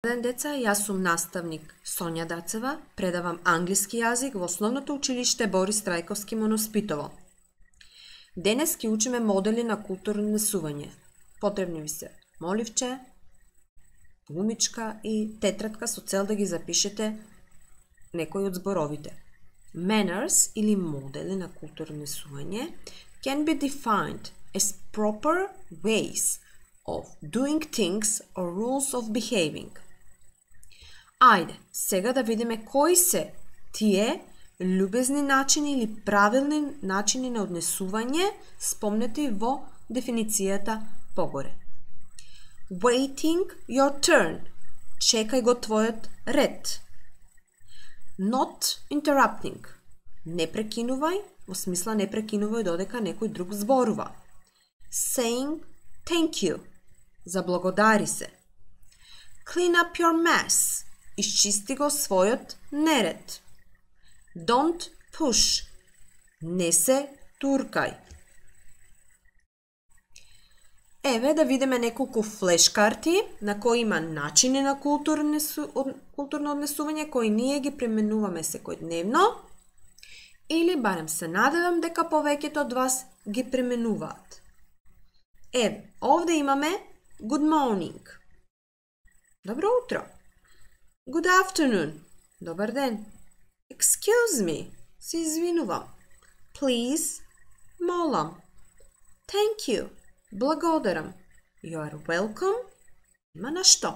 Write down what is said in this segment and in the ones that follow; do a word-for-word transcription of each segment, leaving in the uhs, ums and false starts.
Ден деца, јас сум наставник Сонја Дацева, предавам англиски јазик во Основното училиште Борис Трајковски Моноспитово. Денес ќе учиме модели на културно однесување. Потребни ви се моливче, гумичка и тетрадка со цел да ги запишете некои од зборовите. Manners или модели на културно однесување can be defined as proper ways of doing things or rules of behaving. Ајде, сега да видиме кои се тие љубезни начини или правилни начини на однесување спомнети во дефиницијата погоре. Waiting your turn. Чекај го твојот ред. Not interrupting. Не прекинувај, во смисла не прекинувај додека некој друг зборува. Saying thank you. Заблагодари се. Clean up your mess. Исчисти го својот неред. Don't push. Не се туркај. Еве да видиме неколку флешкарти на кои има начини на културно однесување кои ние ги применуваме секојдневно или барем се надевам дека повеќето од вас ги применуваат. Еве, овде имаме good morning. Добро утро. Good afternoon. Добар ден. Excuse me. Се извинувам. Please. Молам. Thank you. Благодарам. You are welcome. Има на што.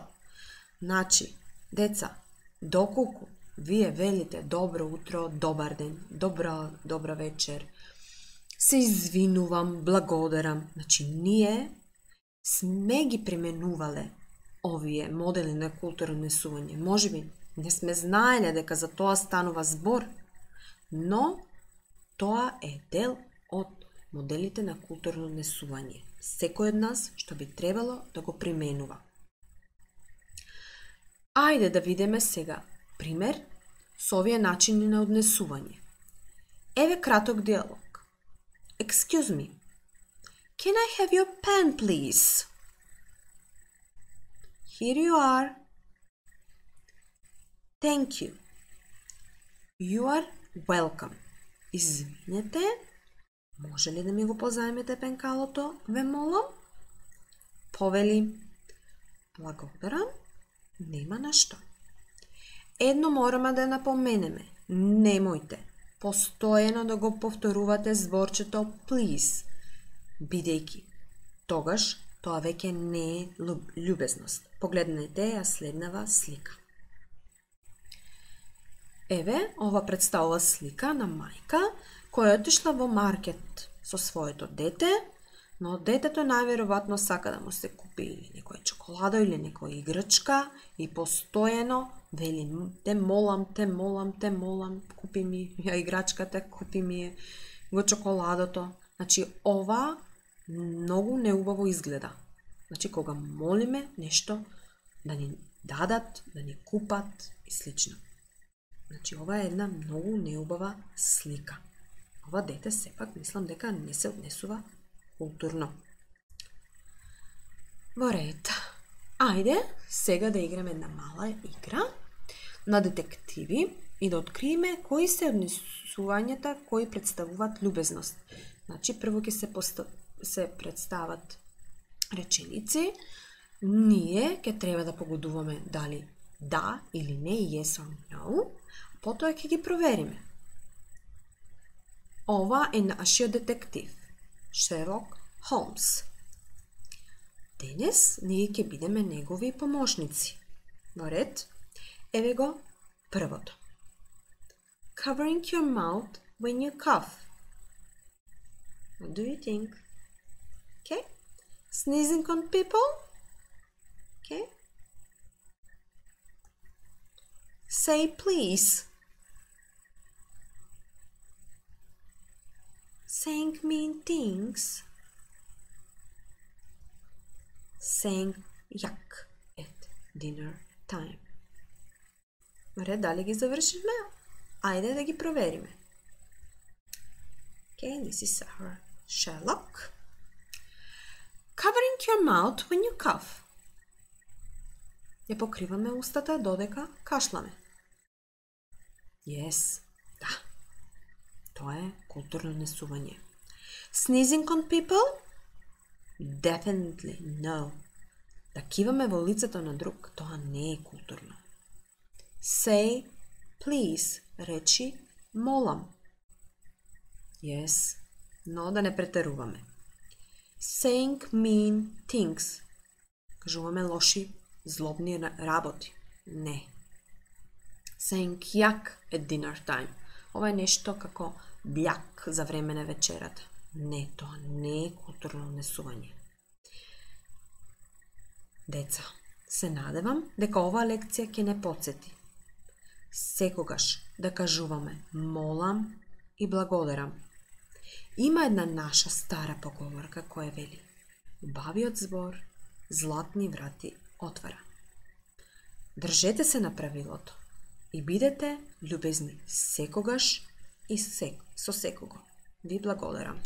Значи, деца, доколку вие велите добро утро, добар ден, добра, добра вечер, се извинувам, благодарам. Значи, ние сме ги применувале овие модели на културно однесување. Можеби не сме знаеле дека за тоа станува збор, но тоа е дел од моделите на културно однесување. Секој од нас што би требало да го применува. Ајде да видиме сега пример со овие начини на однесување. Еве краток диалог. Excuse me. Can I have your pen, please? Here you are. Thank you. You are welcome. Извинете, може ли да ми го позајмете пенкалото, ве молам? Повели, благодарам, нема на што. Едно мораме да напоменеме, немојте постојано да го повторувате зборчето please, бидејќи тогаш тоа веќе не е љубезност. Погледнете ја следнава слика. Еве, ова представува слика на мајка која отишла во маркет со своето дете, но детето најверојатно сака да му се купи или некоја чоколада или некоја играчка и постојано вели те молам, те молам, те молам, купи ми ја играчката, купи ми го чоколадото. Значи, ова многу неубаво изгледа. Значи, кога молиме нешто да ни дадат, да ни купат и слично. Значи, ова е една многу неубава слика. Ова дете сепак мислам дека не се однесува културно. Во ред. Ајде, сега да играме една мала игра на детективи и да откриеме кои се однесувањата кои представуваат љубезност. Значи, прво ќе се, поста... се представат реченици, ние ќе треба да погодуваме дали да или не, yes or no, потоа ќе ги провериме. Ова е нашиот детектив, Шерлок Холмс. Денес ние ќе бидеме негови помошници. Во ред, еве го првото. Covering your mouth when you cough. What do you think? Okay. Sneezing on people? Okay. Say please. Saying mean things. Saying yuck at dinner time. Добре, дали ги завршивме? Ајде да ги провериме. Okay, this is our Sherlock. Covering your mouth when you cough. ја покриваме устата додека кашламе. Yes, да. Тоа е културно несување. Sneezing on people? Definitely no. Да киваме во лицето на друг, тоа не е културно. Say please, речи молам. Yes, но да не претеруваме. Saying mean things. Кажуваме лоши, злобни работи. Не. Saying yuck at dinner time. Ова е нешто како бљак за време на вечерата. Не, тоа не е културно несување. Деца, се надевам дека оваа лекција ќе не потсети. Секогаш да кажуваме молам и благодарам. Има една наша стара поговорка која вели: убавиот збор златни врати отвара. Држете се на правилото и бидете љубезни секогаш и сек, со секого. Ви благодарам.